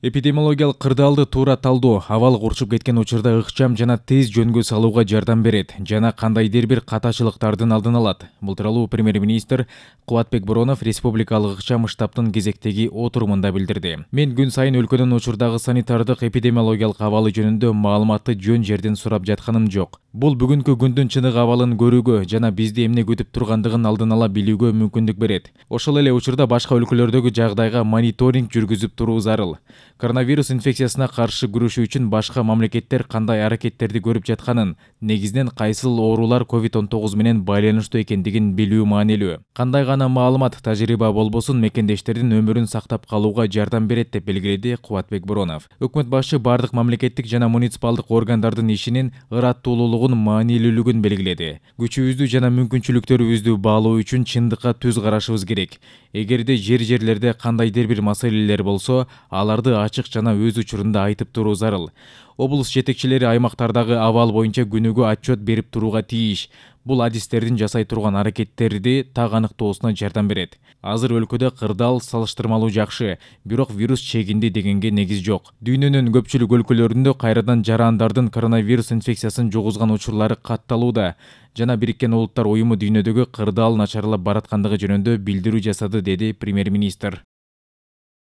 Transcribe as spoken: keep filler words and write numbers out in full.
Эпидемиологиялык кырдаалды туура талдоо абал урчуп кеткен учурда ыкчам жана тез жөнгө салууга жардам берет жана кандайдыр бир катачылыктардын алдын алат. Бул тууралуу премьер-министр Кубатбек Боронов республикалык ыкчам штабтын кезектеги отурумунда билдирди. Мен күн сайын өлкөнүн учурдагы санитардык эпидемиологиялык абалы жөнүндө маалыматты жөн жерден сурап жатканым жок. Бул бүгүнкү күндүн чыныгы абалын көрүүгө жана бизди эмне күтүп тургандыгын алдын ала билүүгө мүмкүндүк берет. Ошол эле учурда башка өлкөлөрдөгү жагдайга мониторинг жүргүзүп туруу зарыл. Коронавирус инфекциясына каршы күрөшүү үчүн башка мамлекеттер кандай аракеттерди көрүп жатканын, негизинен кайсыл оорулар ковид он тогуз менен байланыштуу экендигин билүү маанилүү. Кандай гана маалымат, тажрыйба болбосун мекендештердин өмүрүн сактап калууга жардам берет деп белгиледи Кубатбек Боронов. Өкмөт башы бардык мамлекеттик жана муниципалдык органдардын ишинин ыраттуулуулугун, маанилүүлүгүн белгиледи. Күчүбүздү жана мүмкүнчүлүктөрүбүздү баалоо үчүн чындыкка түз карашыбыз керек. Эгерде жер жерлерде кандайдыр бир маселелер болсо, аларды ачык жана өз учурунда айтып туруу зарыл. Облус жетекчилери аймактардагы абал боюнча күнүгө отчет берип турууга тийиш. Бул адистердин жасай турган аракеттерди так аныктоосуна жардам берет. Азыр өлкөдө кырдаал салыштырмалуу жакшы, бирок вирус чегинди дегенге негиз жок. Дүйнөнүн көпчүлүк өлкөлөрүндө кайрадан жарандардын коронавирус инфекциясын жугузган учурлары катталууда жана Бириккен Улуттар уюму дүйнөдөгү кырдаал начарлап бараткандыгы жөнүндө билдирүү жасады, деди премьер-министр.